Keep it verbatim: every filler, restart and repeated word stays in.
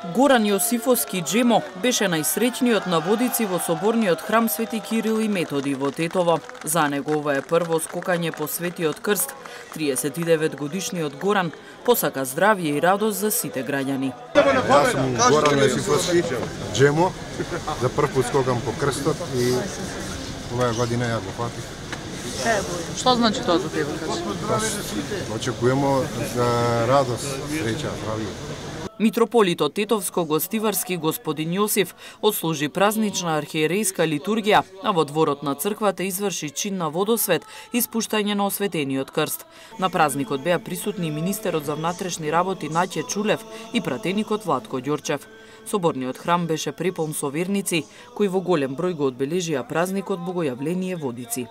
Горан Јосифовски Джемо беше најсреќниот на водици во соборниот храм Свети Кирил и Методи во Тетово. За него ова е прво скокање по Светиот крст. триесет и девет годишниот Горан посака здравје и радост за сите граѓани. Јас сум Горан Јосифовски Джемо, за прв пат скокам по крстот и оваа година ја го фатив. Што значи тоа за тебе? Очекуваме за радост, среќа, здравје. Митрополитот Тетовско-Гостиварски господин Јосиф отслужи празнична архиерејска литургија, а во дворот на црквата изврши чин на водосвет и спуштање на осветениот крст. На празникот беа присутни министерот за внатрешни работи Наќе Чулев и пратеникот Владко Ѓорчев. Соборниот храм беше преполн со верници, кои во голем број го одбележија празникот Богојавление Водици.